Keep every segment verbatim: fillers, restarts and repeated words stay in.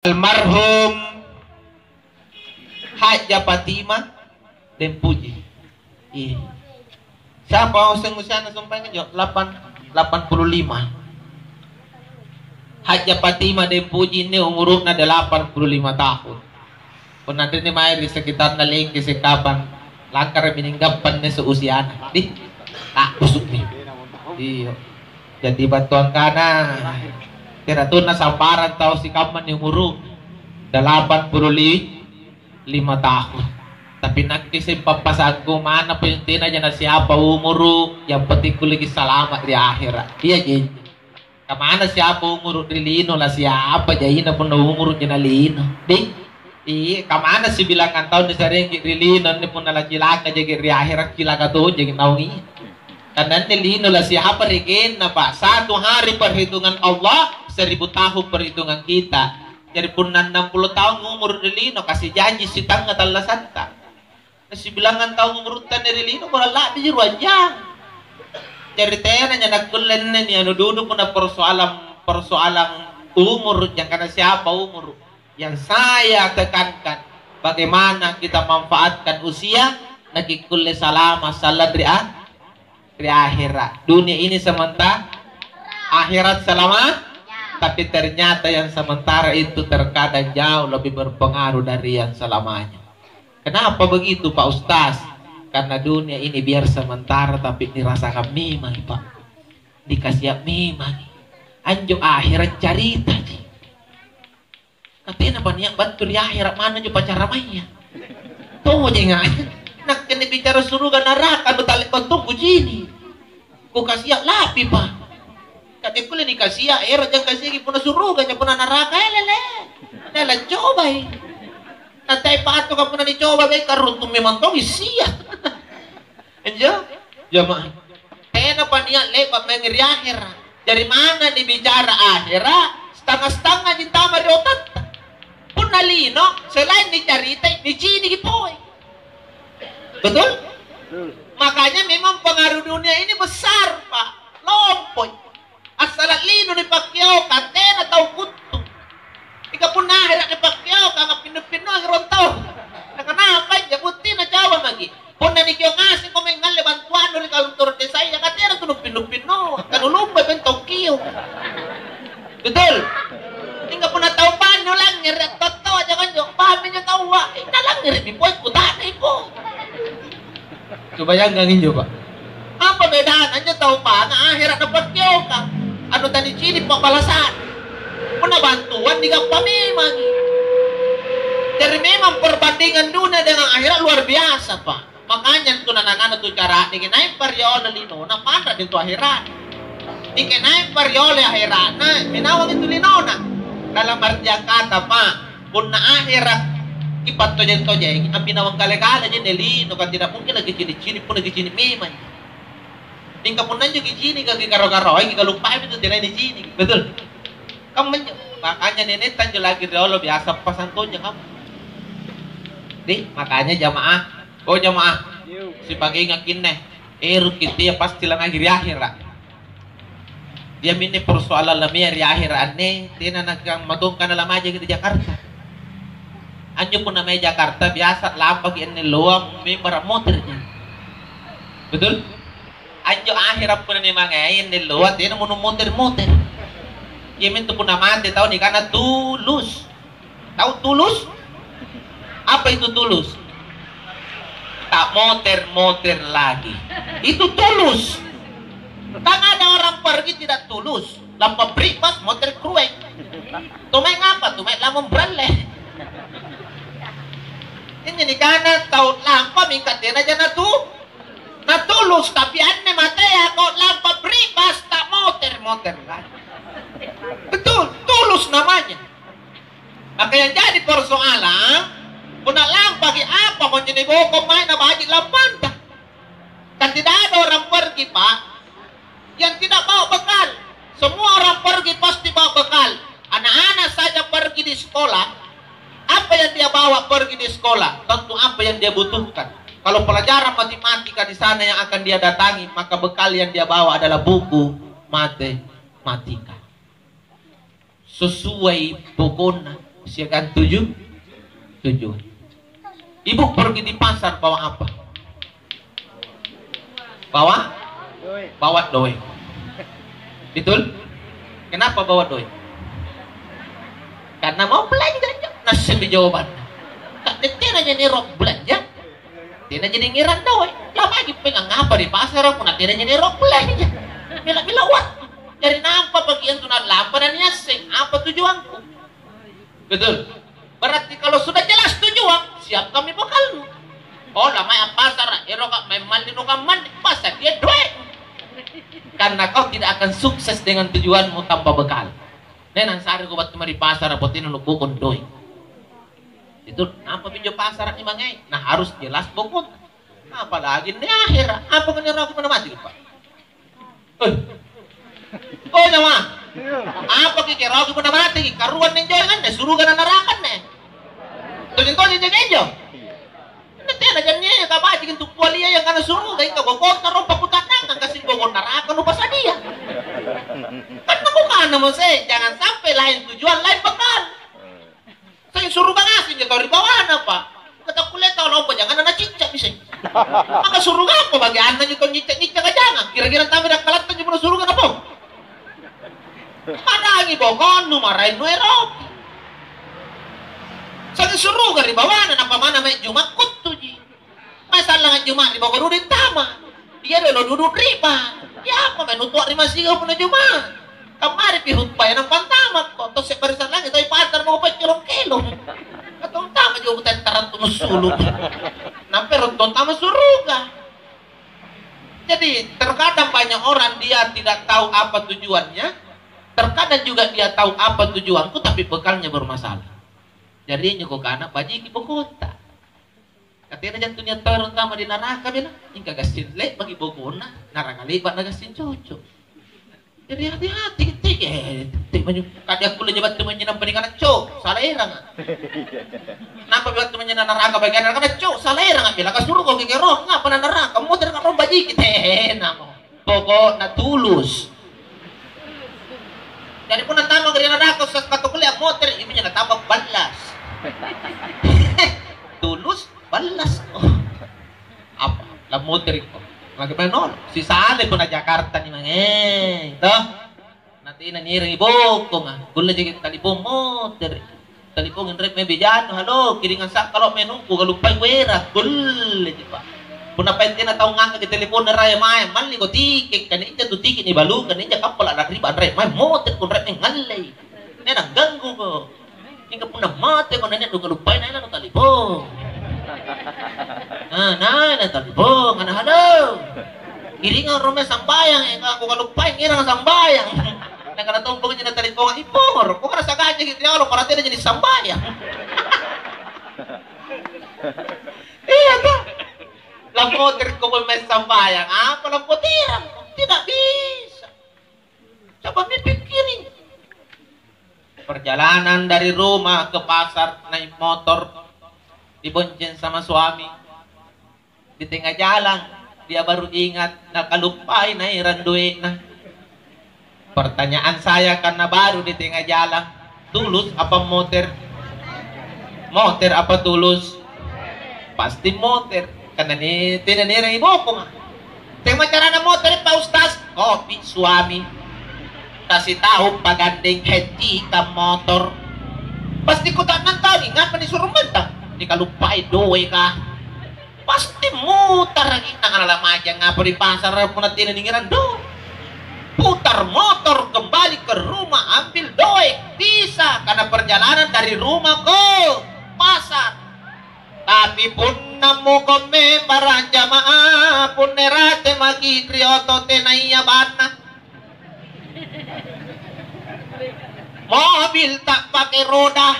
Almarhum Hajjah Fatimah Dempuji. Iya. Siapa useng usiana sumpaeng injo? Lapan-, lapan puluh lima. Hajjah Fatimah Dempuji ini umuru'na delapan puluh lima tahun. Punna anrinni mae ri sekitarna Lengke sekapang, langkarami ninggappa anne seusiana. Di, takkusu'mi. Iyo. Jadi battuangkana, teratunna sambarang tau sikamma ni umuru, delapan puluh lima tahun. Tapi nakke seng pappasangku, manna punna tenaja na siapa umuru, yang penting kulleki salama ri ahera. Iya ji. Kamana siapa umuru ri lino, la siapa jaina punna umuruja na lino. Di? Iya, kamana sibilangang taung nisarengki ri lino, anne punna lacilaka jaki ri ahera, cilaka tojaki naung iya. Karena anne lino la siapa regenna, Pak? Satu hari perhitungan Allah, seribu tahun perhitungan kita. Jadi punna annang pulo taung umuru ri lino, kasi janji sitangnga tallasatta. Sibilangang taung umurutta anne ri lino, kurang la'biji ruang jang. Jari tenanja nakkulle anne nianu dudu punna persoalan, persoalan umur, jangkana siapa umur. Yang saya tekankan, bagaimana kita manfaatkan usia, nakikkulle salama sallang ri a-, ri ahera. Dunia ini sementara, akhirat selama, tapi ternyata yang sementara itu terkadang jauh lebih berpengaruh dari yang selamanya. Kenapa begitu, Pak Ustaz? Karena dunia ini biar sementara, tapi nirasakan memang, Pak. Dikasiak memang. Anjo akhirat caritaji. Katenapa nia' battu ri ahera' manna anjo pacaramaya. Tojenga. Nakke nibicara suruga naraka, anu tale'bantong kucini'. Kukasia' lapi, Pa. Kade kulle nikasia', ero' jang kasiaki punna suruga, punna naraka, elele. Lala cobai. Natai patuka punna nicoba, be karuntung memang tongi sia. Injo, jamaah. Tenapa nia' le'ba' mange ri ahera'. Jari manna nibicara ahera', stanga-stangaji antama ri otatta. Punna lino, selain nicaritai, niciniki pole. Betul? Makanya memang pengaruh dunia ini besar, Pak. Lompoi. Assala' lino nipakkeokang, tena tau kuttu. Mingka punna ahera' nipakkeokang, appinnu-pinnuangi rong taung. Nakanapa injo? Buttina coba maki'. Punna nikio' ngasengko mae ngalle bantuannu ri kantor desaya, ka tena tu nuppinnu-pinnu, ka nulumbai bentong kio'. Betul? Mingka punna tau bannu langngere', attoa-toa jangko anjo, paham minjo taua, eh, nalangngere'mi pole, kuta'nai pole. Coba bayangkan injo, Pak. Apa bedana anjo tau panga ahera' napakkeokang? Anu tanicini' pa'balasa'na. Punna bantuan digappa memangi. Jari memang perbandingan dunia dengan akhirat luar biasa, Pak. Makanya antu nanangana tu cara'de, nai' pariolo linona, panra'de tu akhirat. Mingka nai' pariolo akhiratna, minawang itu linona. Dalam artian kata, Pak, punna akhirat kipattojeng-tojengi, amminawang kale-kale jenne lino, kan tidak mungkin lagi cini'-cini' punna kicini' memang. Mingka punna injo kicini', kaki karo-karoai, kikaluppaimi tu tenai nicini'. Betul? Kammanjo. Makanya nenetta anjo lagi riolo biasa pasang tonja kamu. Deh, makanya jamaah, oh jamaah, sipagenga kinne, eroki tea pasti lanagi ri ahera'. Iaminne persoalan lamea ri ahera' anne, tena nakang matongkana lamajaki ri Jakarta. Anjo punna mae Jakarta, biasa lampaki anne loa membara motorji. Betul? Anjo ahera' punna nimangai anne loa, tena mono moter-moter. Iamintu punna mate tau nikana tulus. Tau tulus? Apa itu tulus? Tak moter-moter lagi. Itu tulus. Kan ada orang pergi tidak tulus. Lampa pripas, moter krueng. Tumai ngapa? Tumai lamung bralle. Ini nikana tau lampa mingka tena jana tu. Natulus, tapi anne matea ko lampa pripas, tak moter-moter lagi. Betul, tulus namanya. Maka yang jadi persoalan, punna lampaki apa konjo niboko mae na baji' lampanta. Kan tidak ada orang pergi, Pak, yang tidak bawa bekal. Semua orang pergi pasti bawa bekal. Anak-anak saja pergi di sekolah, apa yang dia bawa pergi di sekolah? Tentu apa yang dia butuhkan. Kalau pelajaran matematika di sana yang akan dia datangi, maka bekal yang dia bawa adalah buku matematika. Sesuai pokokna. siagang tuju-, tujuan. Ibu pergi di pasar bawa apa? Bawa? Bawa doe. Betul? Kenapa bawa doe? Karena mau belanja. Nassemmi jawabanna. Ka tena jadi rok belanja. Tena jadi ngerang doe. Lamaki pengang apa di pasar aku na tena jadi rok belanja. Mila-mila waktu. Jadi nampa bagian tuna lampa dan niasseng apa tujuanku. Betul. Berarti kalau sudah jelas tujuan, siapkanmi bekalmu. Oh, lamai appasara, eroka maeng malli nukammanne, passadia doe. Karena kau tidak akan sukses dengan tujuanmu tanpa bekal. Nenang sare ko battu mari pasara, potena nubokong doe. Itu nampa pinjo pasara ni mange, nah harus jelas bokong. Apalagi ni akhera, apa kau ni ragu mana mati, Pak? Eh. Oh, nyawa. Apa kikirauki punna mateki? Karuang ninjo anne, suruga na naraka anne. Tojeng-tojeng jaga injo. Anne tena jannia kabajiki antu kualia yang kana suruga, ingka bokota ro pakutannangang, gassing bokong naraka nupasadia. Kan nakukanamo se, jangan sampai lain tujuan, lain bekal. Sai suruga ngaseng ja tau ri bawana, Pak. Katakkulle tau lompo janganna nacicca mi sai. Maka suruga apa bagianna njo tau nyicca-nyicca jangang? Kira-kira tama dakkalatta njo punna suruga napong. Padangi bokonnu maraeng nueroki. Sai suruga ri bawana, nampa manna mae Juma' kuttuji. Mae sallang ajjuma' ri boko dudui antama. Ia dolo dudu riba. Ia apa mae nutoa ri masiga punna juma'? Kammaripi hutbaya nampa antamakko. Tosse' barisan langi' tapi pattara mako paccolong kelong. Atau antama juga kutai tarantu massulu. Nampa ero' antama suruga. Jadi terkadang banyak orang dia tidak tahu apa tujuannya. Terkadang juga dia tahu apa tujuanku tapi bekalnya bermasalah. Jari injo kukana bajiki bokota. Katena jantu nia' tau ero' antama di naraka bela, ingka gassing le'baki bokonna, naraka le'ba' na gassing cocok. Jari hati-hati kitte, eh, te maju, kadi akkulle ja battu manynyang nampa nikana cok, sala eranga. Nampa battu manynyang naraka bagian naraka cok, sala eranga bela, kasuruko kikero, ngapa na naraka, motere' ka ro bajiki, tenamo. Pokokna tulus. Jadi punna tamaki ri naraka, Ustaz, battu kulle ammotere', iminjo natamba ballas. Tulus, ballas. Oh. Apa? Lammotere'ko. Lagi maeng nolo. Sisale punna Jakarta ni mange. Toh? Natena nierang ibokonga. Kulle jaki talipong motere'. Talipongi anre mae bejanu, "Halo, kiringang sa'kalo' menungku, kaluppai kuerang." Kulleji, Pak. Punna paeng tena tau ngangkaki teleponna raya mae, malliko tike', kani inja tu tike' nibalukang, inja kappala' la'riba anre mae, motekko anre mae ngallei. Tena gangguko. Mingka punna mateko nania' nukaluppai, naena nutalipong. Ah, naena talipong, ana', "Halo." Kiringang rong mae sambayang, eh, ka kukaluppai, ngerang sambayang. Nakana tompoki ji nataliponga, "Ih, pongoro', kukana sagaja ki riolo, para tena ji nisambayang." Iya, toh? Lampoterko pole mae sambayang, apa lampoterang? Tidak bisa. Coba mipikkiri. Perjalanan dari rumah ke pasar naik motor, dibonceng sama suami. Di tengah jalan, dia baru ingat, nakaluppai naerang doe'na. Pertanyaan saya, karena baru di tengah jalan, tulus apa moter? Moter apa tulus? Pasti moter, karena ni-, tena nierang ibokonga. Tema carana moter, Pak Ustaz? Kopi suami. Kasih tahu pagandeng hentikan motor. Pasti kuta'nang tau, ngapa nisuruh mantang? Nikaluppai doe kah? Pasti mutaraki, nakana lamajang apa di pasara punna tena ningerang doe. Putar motor kembali ke rumah, ambil doe, bisa, karena perjalanan dari rumah ke pasar. Tapi punna moko membara jamaah, punna rate maki ri oto tenaya banna. Mobil tak pakai roda.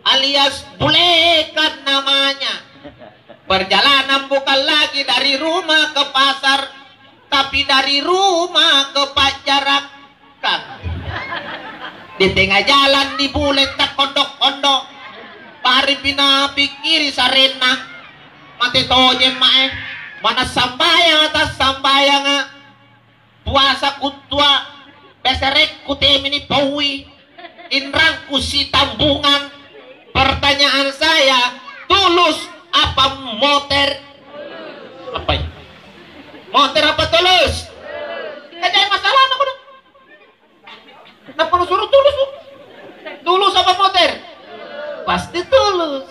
Alias bulekan namanya. Perjalanan bukan lagi dari rumah ke pasar, tapi dari rumah ke pajarakkang. Di tengah jalan dibule takkondo-kondo. Baripi napikkiri sarenna. Mate tojeng mae. Mana sambayanga tassambayanga. Puasa kuttua. Beserekku temi nipaui. Inrangku sitambungang. Pertanyaan saya, tulus apa moter? Apa ya? Moter apa tulus? Kan jadi masalahna kodong. Nampa nusuro tulus, Bu. Tulus apa moter? Pasti tulus.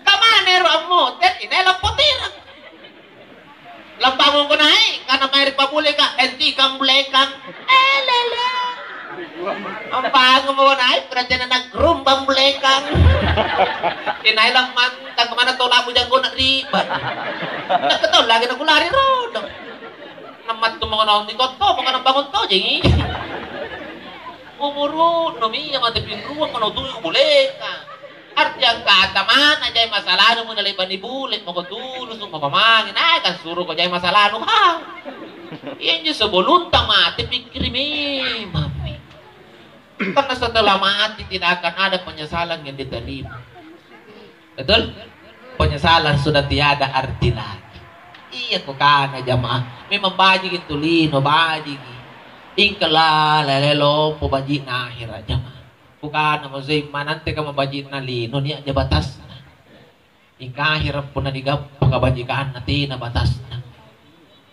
Kamana ero ammoter? Inai lampoterang. Lambangunko nai', kana mae ri pabuleka, "Hentikan bulekang." Eh, lele. Ambangunmo nai', berarti na nagrumbang bulekang. Inai lammantang kamana tau labu janggona riba. Nakatau lagi nakulari rodo. Nammattu mako naung nikotto, mako nabangun tojengi. Umuru'nu mia mate pinruang mano tuli kubuleka. Arti angkata mana jai masalahnu punna le'ba nibule, mako tulusu, mako mange, naeka suruko jai masalahnu, ha. Iyanjo sebelumta mate pikkiri memammi. Karena setelah mati tidak akan ada penyesalan yang diterima. Betul? Penyesalan sudah tiada arti lagi. Iya kukana jamaah. Memang bajiki tu lino, bajiki. Ingkala lele lompo baji'na ahera jamaah. Kukana masing mananteka mabaji'na lino nia'ja batasna. Ingka ahera punna nigappa kabajikanna tena batasna.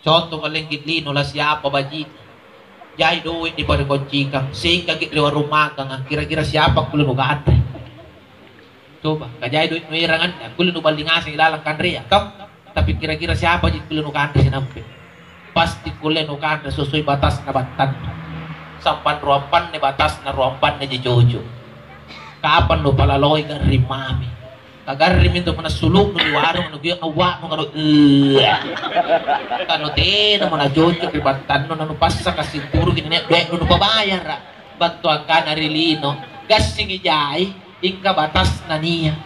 Conto kalengki lino la siapa baji'na. Jai doe' niparekoncikang, singkaki ri warung makanga, kira-kira siapa kulle nukanre? Coba, kajai doe' nuerang anne, akkulle nuballi ngaseng ilalang kanrea, toh? Tapi kira-kira siapaji kulle nukanre sinampe? Pasti kulle nukanre sesuai batasna battannu. Sampang ruampanne batasna, ruampanneji cocok. Kapang nupalaloi garring mami. Kagarrimi intu punna sulu'nu ri warung, nukio' awwa'nu kanu, "Ella." Kanu tenamo nacocok ri battannu, nanupassaka situruki nia' doe'nu nupabayara'. Battu angkana ri lino, "Gassingi jai, ingka batasna nia'."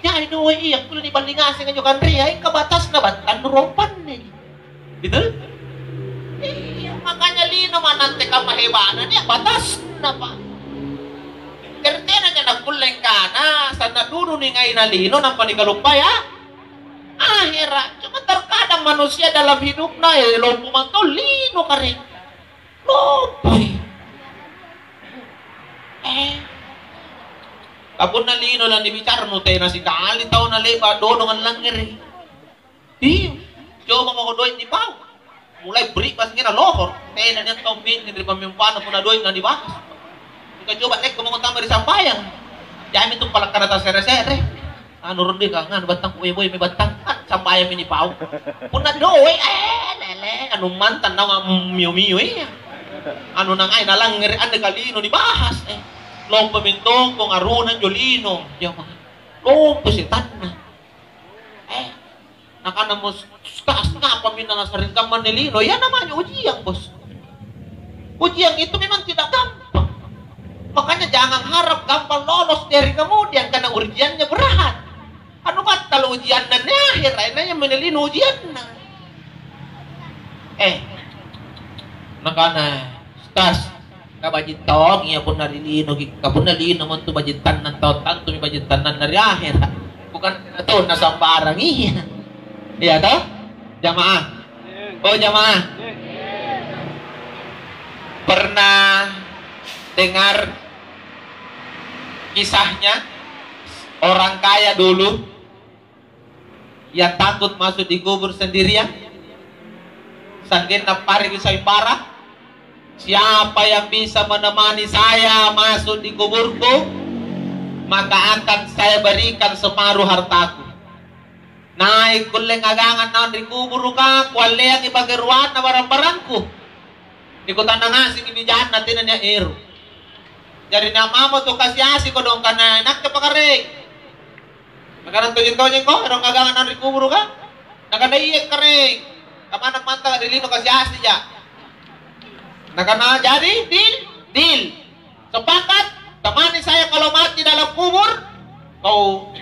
Jai doe' iya kulle niballi ngaseng anjo kanrea, ingka batasna battannu rompanne. Betul? Iya, makanya lino manante kamma heba'na nia' batasna, Pak. Jari tenanja nakkulle angkana, sanna' dudu ningaina lino nampa nikaluppai a-, ahera'. Cuma terkadang manusia dalam hidupna, eh, lompo mantong lino kare. Lompoi. Eh. Kapunna lino lanibicara nu tena sikali tau nale'ba' dodong allangngere'. Ih, coba mako doe' nipau. Mulai bri' pas ngira lohor. Tena nia' tau minne ri pammimpana punna doe' na nibahas. Mingka coba lekko mako tama ri sambayang. Jaimi tu palakkana tasere-sere. Anu rundi ka nganu battang boe-boe mi battang. Ah, sambayang mi nipau. Punna doe', eh, lele, anu mantang naung mio-mio iya. Anu nangai nalangngere' anne kalino nibahas, eh. Lompo mintongko ngaruna anjo lino. Jama. Lompo setanna. Eh, nakanamo, "Ustaz, ngapa minna nasarring kamma anne lino?" Ya namanya ujian, Bos. Ujian itu memang tidak gampang. Makanya jangan harap gampang lolos dari kemudian, karena ujiannya berat. Anu battala ujianna anne ahera', nanya mene lino ujianna. Eh, nakana, "Ustaz, kabaji' tongi iya punna ri linoki, ka punna lino montu baji' tannang tau, tantumi baji' tannanna ri ahera'. Bukan tau nasambarang iya." Iya toh? Jamaah. Oh, jamaah. Pernah dengar kisahnya orang kaya dulu yang takut masuk di kubur sendirian? Sanggenna pareki sayembara, "Siapa yang bisa menemani saya masuk di kuburku, maka akan saya berikan separuh hartaku." Nai' kulle ngagangang naung ri kuburuka, kualleangi pakaruanna barang-barangku. Nikutanna ngasengi bijanna tena nia' ero'. Jari nia' mamo tu kasi-asi kodong kana, "Inakke pakareng." Nakana, "Tojeng-tojengko ero' ngagangang naung ri kuburuka?" Nakana, "Iya, kareng. Kamanna mantanga ri lino kasi-asija." Nakana, "Jadi, deal?" "Deal." Sepakat, temani saya kalau mati dalam kubur, kau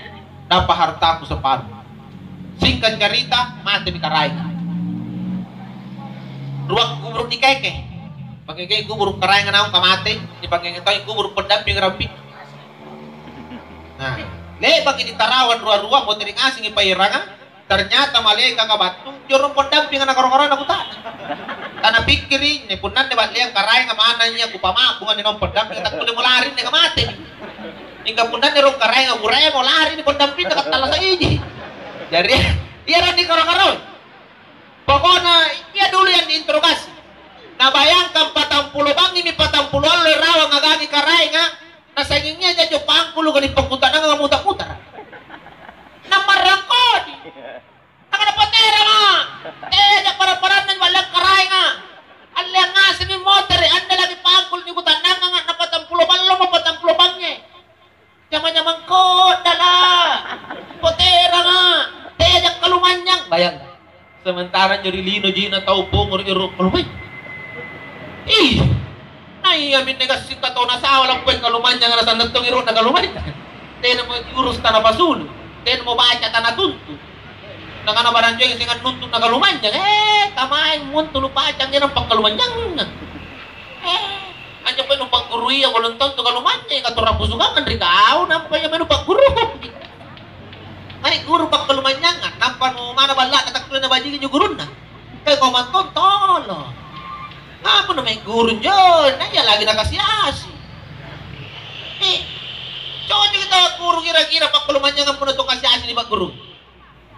dapat hartaku separuh. Singkat cerita, matemi karaenga. Rua kubur nikeke. Pakekei kubur karaenga naung kamate, dipakeke toi kubur pendamping rampi. Nah, le'baki nitarawan rua-rua, moteri ngasengi paeranga. Ternyata malaekaka battu, jorong pendampinga nakaro-karona kutana. Napikkiri, ni punna anne ba'leang karaenga manna ia kupama'bunga ni naung pendamping, takkulle mo lari ni kamate. Mingka punna anne rong karaenga kuremo lari ni pendamping, kattallasa iji. Jari, iyaro ni karo-karo. Pokokna, ia dulu yang diinterogasi. Nabayangkan patang pulo bangngimi patang pulo allo rawang agangi karaenga, nasangingnya jajo pangkulu gani pakkutananga muta-mutara. Namarrang kodi. Nakana, "Poteranga! Teaja para-paranna ba'leang karaenga. Alleang ngasengmi motere', anne lagi pangkulu nikutannanganga, na patang pulo ballomo patang pulo bangnge. Jama-jamang koddala'. Poteranga! Teaja kalumanynyang." Bayangkan. Sementara anjo ri lino jina tau pongoro ero' kalumanynyang. Ih, naiaminne gassing katau nasawa lappoi kalumanynyanga, nasanna tong ero'na kalumanynyang. Tenamo urus tana pasulu, tenamo baca tana tuntu. Nakana barang joeng seng annuntu na kalumanynyang, eh, kamaeng muntulu pacang inang pakkalumanynyanga. Eh, anjo pole nupagguruia belum tentu kalumanynyang, katorang pusukangang ri kau, nampa ia menu pagguru. Mae guru pakkalumanynyanga, nampa nu mana balla'na takkulle nabajiki injo gurunna. Kai kau mantong tolo. Apa nu mae guru njo, na ia lagi nakasi-asi. Eh, cocoki tau guru kira-kira pakkalumanynyanga punna tu kasi-asi ni pagguru.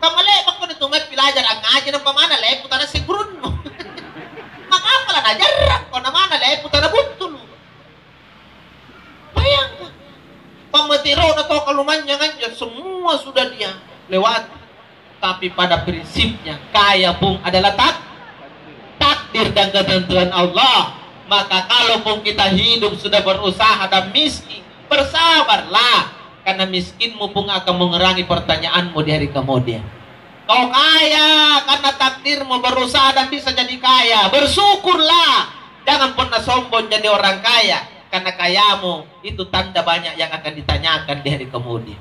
Kamma le'bakko ni tu mae pilajara angngaji nampa mana lepu tanasseng gurunnu. Maka apa la najarrang kau na mana lepu tana buttulu. Bayangkan, pammatero'na tau kalumanynyang anjo, semua sudah dia lewati. Tapi pada prinsipnya, kaya pung adalah tak-, takdir dan ketentuan Allah. Maka kalaupun kita hidup sudah berusaha dan miskin, bersabarlah, karena miskinmu pung akan mengurangi pertanyaanmu di hari kemudian. Kau kaya karena takdirmu, berusaha dan bisa jadi kaya, bersyukurlah. Jangan pernah sombong jadi orang kaya, karena kayamu itu tanda banyak yang akan ditanyakan di hari kemudian.